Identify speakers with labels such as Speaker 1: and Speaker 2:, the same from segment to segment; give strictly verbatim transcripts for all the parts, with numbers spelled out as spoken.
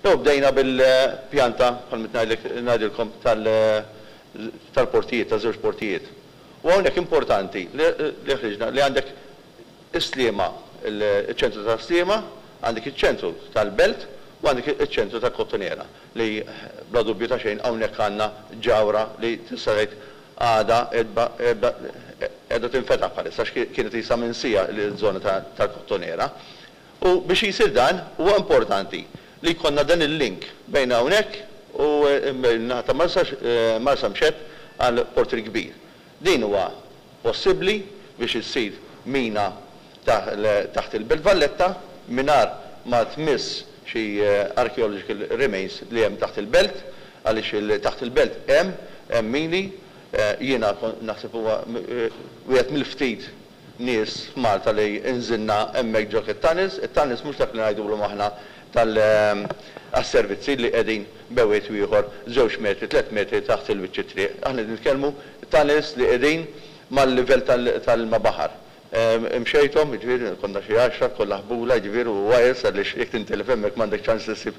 Speaker 1: Jew bdejna bil-pjanta, bħal ngħidilkom, tal-portijiet, ta' żewġ portijiet. U hawnhekk importanti li ħriġna li għandek is-Sliema, il-ċentru ta' Sliema, għandek iċ-ċentru tal-Belt u għandek iċ-ċentru tal-Kottonera li bla dubju ta' xejn hawnhekk għandna ġawra li tista' tgħid għada qiegħda tinfetaħ bħalissa, kienet isa minsija l-żona tal-Kottonera. U biex jisir dan huwa importanti li jkollna dan il-link bejn hawnhekk u naħa ta' Marsamxett għal Port il-Kbir. Din huwa possibbli biex issir mina taħt il-Belt Valletta mingħajr ma tmiss xi archaeological remains li hemm taħt il-belt, għaliex taħt il-belt hemm hemm mini. Jiena naħseb huwa wieħed mill-ftit nies f'Malta li nżilna hemmhekk ġo it-tunnels. It-tunnels mhux dak li ngħidulhom aħna tal-servizzi li qegħdin bewet ieħor żewġ metri, tliet metri taħt il-wiċċ it-triq. Aħna nitkellmu tunnels li qegħdin mal-livell tal-ilma baħar. Imxejthom, jiġifieri konna xi għaxra, kollha ħbula, jiġifieri u wires, għaliex jekk tintilef hemmhekk m'għandek ċans issib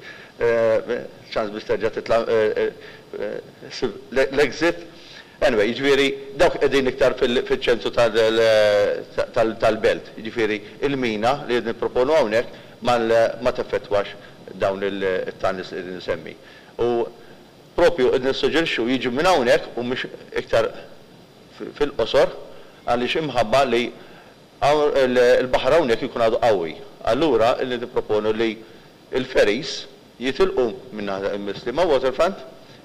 Speaker 1: ċans biex terġa' titla' l-exit. Anyway, jiġifieri dawk qegħdin iktar fiċ-ċentru tal-belt. Jiġifieri il-mina li qed nipproponu hawnhekk ma teffettwax dawn it-tunnels li qegħdin nsemmi. U propju qed nissuġġerixxu jiġu minn hawnhekk u mhux iktar fil-qosor, għaliex imħabba li il-baħar hawnhekk ikun għadu qawwi. Allura li nipproponu li l-ferries jitilqu minn Sliema Waterfront,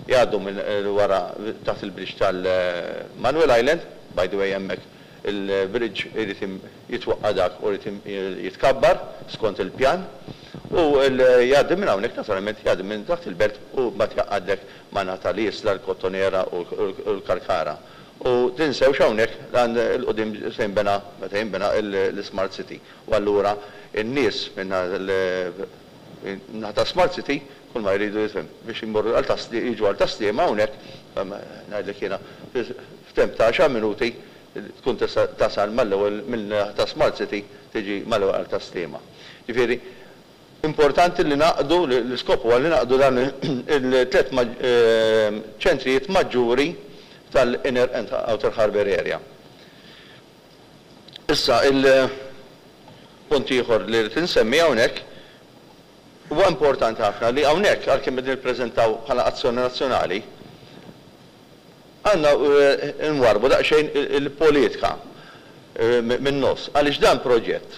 Speaker 1: jgħaddu minn wara taħt il-bridge tal-Manuel Island, by the way hemmhekk il-bridge irid jitwaqqa' dak u jrid jitkabbar skont il-pjan, u jgħaddi minn hawnhekk naturalment jgħaddi minn taħt il-belt u mbagħad jaqgħadlek ma' naħa tal-Isla, l-Kottonera u l-Kalkara. U tinsewx hawnhekk għand il-qudiem se jinbena, meta jinbena l-Smart City. U allura n-nies minn naħa Smart City kull ma jridu jifhem biex jmorru għal jiġu għal Tas-Sliema hawnhekk, ngħidlek jiena f'temp ta' għaxar minuti tkun tista' tasal mal-ewwel minn ta' Smart City tiġi mal-ewwel għal Tas-Sliema. Ġifieri importanti li naqdu, l-iskop huwa li naqdu dan il-tliet ċentrijiet maġġuri tal-Inner and Outer Harbour Area. Issa il-punt ieħor li rrid insemmi hawnhekk huwa importanti ħafna li hawnhekk għalkemm qegħdin nippreżentaw bħala azzjoni nazzjonali, għandna nwarbu daqsxejn il-politika min-nofs, għaliex dan proġett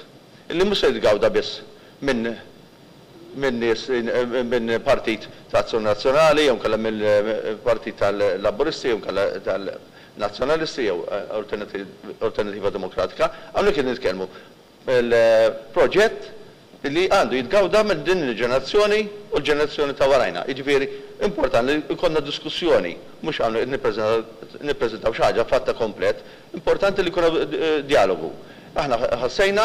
Speaker 1: li mhux se jitgawda biss minn minn nies minn partit ta' Azzjoni Nazzjonali jew inkella mill-partit tal-Laburisti jew inkella tal-Nazzjonalisti jew Alternativa Demokratika. Hawnhekk qed nitkellmu il-proġett li għandu jitgawda minn din il-ġenerazzjoni u l-ġenerazzjoni ta' warajna. Jiġifieri importanti li jkollna diskussjoni, mhux hawn nippreżentaw xi ħaġa fatta komplet, importanti li jkun dialogu. Aħna ħassejna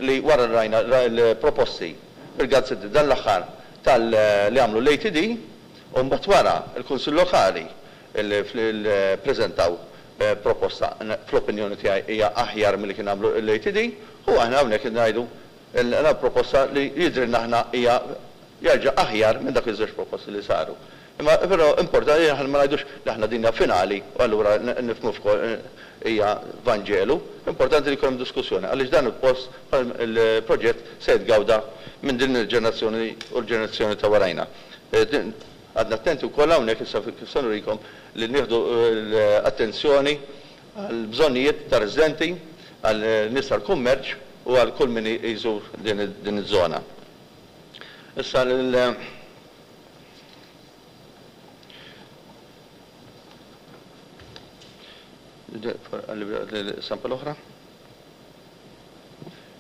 Speaker 1: li wara rajna l-proposti fil-gazzetti dan l-aħħar tal-li għamlu l-A T D, u mbagħad wara l-Kunsill Lokali li ppreżentaw proposta fl-opinjoni tiegħi hija aħjar milli kien għamlu l-A T D, u aħna hawnhekk ngħidu l proposta li jidhrilna aħna hija jerġa' aħjar minn dak iż-żewġ proposti li saru. Imma però importanti li aħna ma ngħidux li aħna dinja finali u allura nifhmu f'kol hija Vanġelu, importanti li jkun hemm diskussjoni għaliex dan il-post il-proġett se jitgawda minn din il-ġenerazzjoni u l-ġenerazzjoni ta' warajna. Għadna attenti wkoll hawnhekk issa kif se nurikom li nieħdu l-attenzjoni għall bżonnijiet ta' residenti, għal nies tal-kummerċ u għal kull min jżur din iż-żona. Issa l Sample oħra.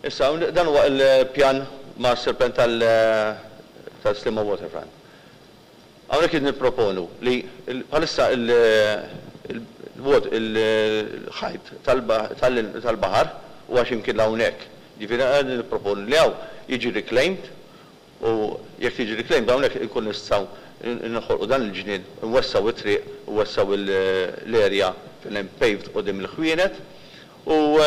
Speaker 1: Issa dan huwa l-pjan master plan tal-Sliema Waterfront. Hawnhekk qed nipproponu li bħalissa il-ħajt tal-baħar huwa xi mkien hawnhekk. Ġifieri qed nipproponu li hawn jiġi reclaimed, u jekk jiġi reclaimed hawnhekk inkun nistgħu noħolqu dan il-ġnien, nwessaw it-triq, nwessaw l-area fejn hemm paved quddiem il-ħwienet, u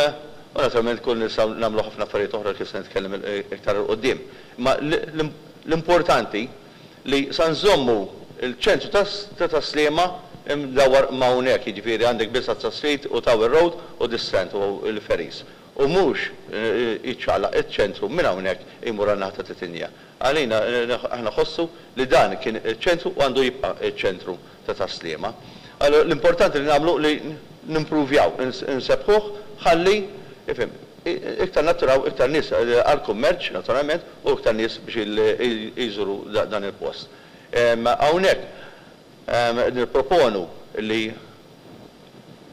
Speaker 1: naturalment kun nistgħu nagħmlu ħafna affarijiet oħra kif se nitkellem iktar 'il quddiem. Imma l-importanti li sa nżommu il-ċentru ta' Tas-Sliema imdawwar ma' hawnhekk, jiġifieri għandek Bisazza Street u Tower Road u The Strand u l-ferries. U mhux jiċċaqlaq iċ-ċentru minn hawnhekk imur għan-naħa ta' Titinja. Għalina aħna nħossu li dan kien iċ-ċentru u għandu jibqa' iċ-ċentru ta' Tas-Sliema. Allura l-importanti li nagħmlu li nimpruvjaw, insebbħuh ħalli ifhem iktar nattiraw iktar nies għall-kummerċ naturalment u iktar nies biex jżuru dan il-post. Hawnhekk nipproponu li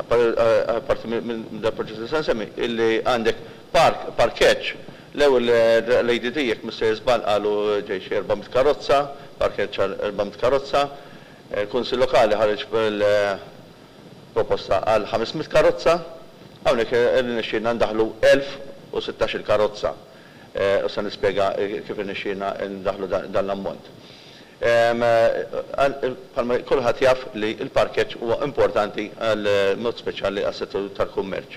Speaker 1: apparti minn dal-proġett li se nsemmi, illi għandek park, parkeġġ. L-ewwel l-A D D, jekk mhux sejjer żball, qalu ġej xi erba' mitt karozza, parkeġġ għal erba' mitt karozza. Il-Kunsill Lokali ħareġ bil-proposta għal ħames mitt karozza. Hawnhekk irnexxielna ndaħħlu elf u sittax-il karozza. U se nispjega kif irnexxielna ndaħħlu dan l-ammont. Bħalma kulħadd jaf li l-parkeġġ huwa importanti għal mod speċjali għas-settur tal-kummerċ.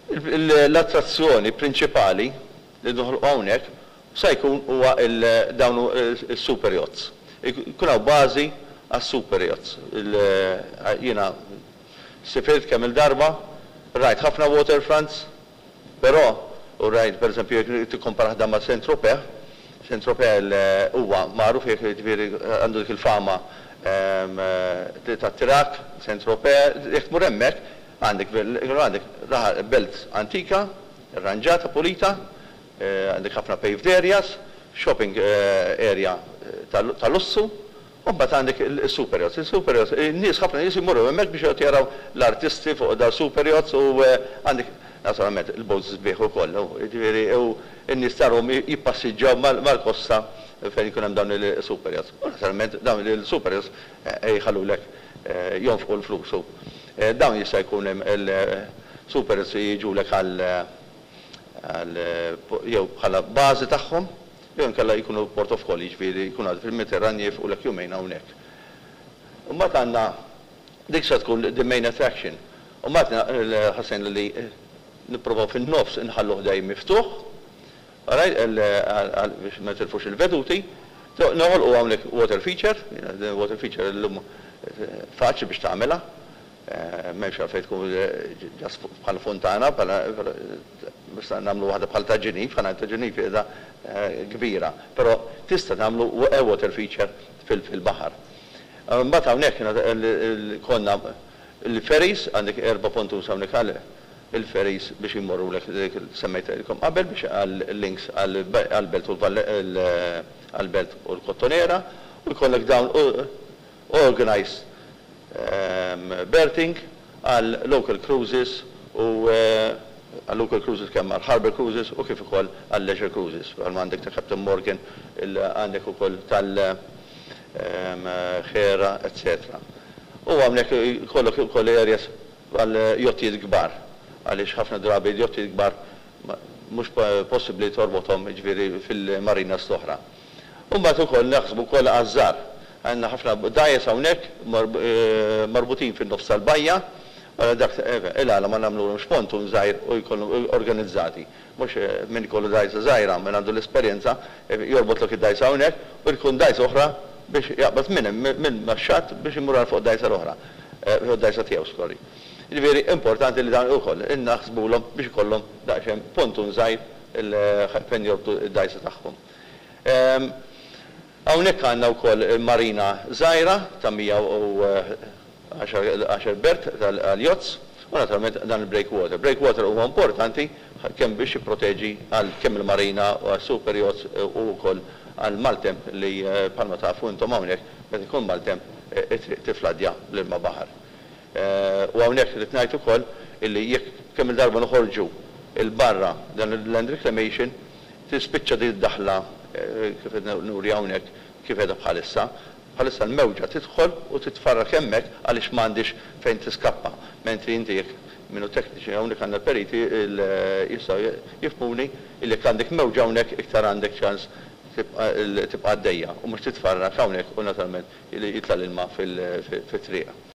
Speaker 1: L-attrazzjoni prinċipali li noħolqu hawnhekk sa jkun huwa dawn is-super yachts. Jkun hawn bażi għas-super yachts. Jiena sifirt kemm il-darba, rajt ħafna waterfronts, però u rajt, pereżempju, jekk tikkompara dan ma' Saint-Tropez, Saint-Tropez huwa magħruf, jekk jiġifieri għandu dik il-fama tat-tirak, Saint-Tropez, jekk tmur hemmhekk għandek għandek belt antika, arranġata, pulita, għandek ħafna paved areas, shopping area ta' lussu, u mbagħad għandek il-super yachts. Il-super yachts, in-nies, ħafna nies imorru hemmhekk biex jaraw l-artisti fuq da super yachts u għandek naturalment il-boats sbieħ ukoll, jiġifieri u n-nies tarahom jippassiġġaw mal-kosta fejn ikun hemm dawn il-super yachts. U naturalment dawn il-super yachts jħallulek jonfqu l-flus. Dawn jista' jkun hemm il-super yachts jiġulek għal jew bħala bażi tagħhom, jew inkella jkunu port of call, jiġifieri jkunu għadu fil-Mediterran jieqfulek jumejn hawnhekk. Imbagħad għandna dik se tkun the main attraction. U mbagħad ħassejna li nipprovaw fin-nofs inħalluh dejjem miftuħ, biex ma tilfux il-veduti. Noħolqu hawnhekk water feature, water feature illum faċli biex tagħmilha, m'hemmx għalfejn tkun just bħal fontana, biex nagħmlu waħda bħal ta' Ġiniv, ħana ta' Ġiniv qiegħda kbira, però tista' tagħmlu water feature fil-baħar. Mbagħad hawnhekk konna il-ferries, għandek erba' pontoons hawnhekk għal il-ferries biex immorru lek semmejtilkom qabel biex għal-links għal-belt u għal-belt u l-Kottonera u jkollek dawn organized berthing għal local cruises u għal local cruises, kemm għal harbor cruises u kif ukoll għal leisure cruises. Għal għandek ta' Captain Morgan, għandek ukoll tal Xera, et cetera. U għamlek kollok ukoll areas għal jottijiet kbar, għaliex ħafna drabi jottijiet kbar mhux possibbli torbothom, ġifieri, fil-marina l-oħra. U mbagħad ukoll naħsbu wkoll għaż-żgħar. Għandna ħafna dgħajjes hawnhekk marbutin fin-nofs tal-bajja, dak il-għala ma nagħmluhomx pontoon żgħir u jkunu organizzati? Mhux min ikollu dgħajsa żgħira, min għandu l-esperjenza, jorbotlok id-dgħajsa hawnhekk u jkun dgħajsa oħra biex jaqbad minn minn max-xatt biex imur għal fuq dgħajsa l-oħra, fuq dgħajsa tiegħu, sorry. Ġifieri importanti li dan ukoll innaħsbulhom biex ikollhom daqsxejn pontoon żgħir fejn jorbtu id-dgħajsa tagħhom. Hawnhekk għandna wkoll marina żgħira ta' mija u għaxar berth tal-yachts u naturalment dan il-breakwater. Breakwater huwa importanti kemm biex jipproteġi għal kemm il-marina u għal super yachts u wkoll għal maltemp li bħalma tafu intom hawnhekk meta jkun maltemp tifladja l-ilma baħar. U hawnhekk li ngħid ukoll illi jekk kemm il-darba noħorġu il-barra dan il-land reclamation tispiċċa din id-daħla kif nuri hawnhekk kif qiegħda bħalissa. Bħalissa l-mewġa tidħol u titfarrak hemmhekk għaliex m'għandix fejn tiskappa. Mentri inti jekk minnu tekniċi hawnhekk għandna periti jistgħu jifhmuni illi jekk għandek mewġa hawnhekk iktar għandek ċans tibqa' għaddejja u mhux titfarrak hawnhekk u naturalment jitla' l-ilma fit-triq.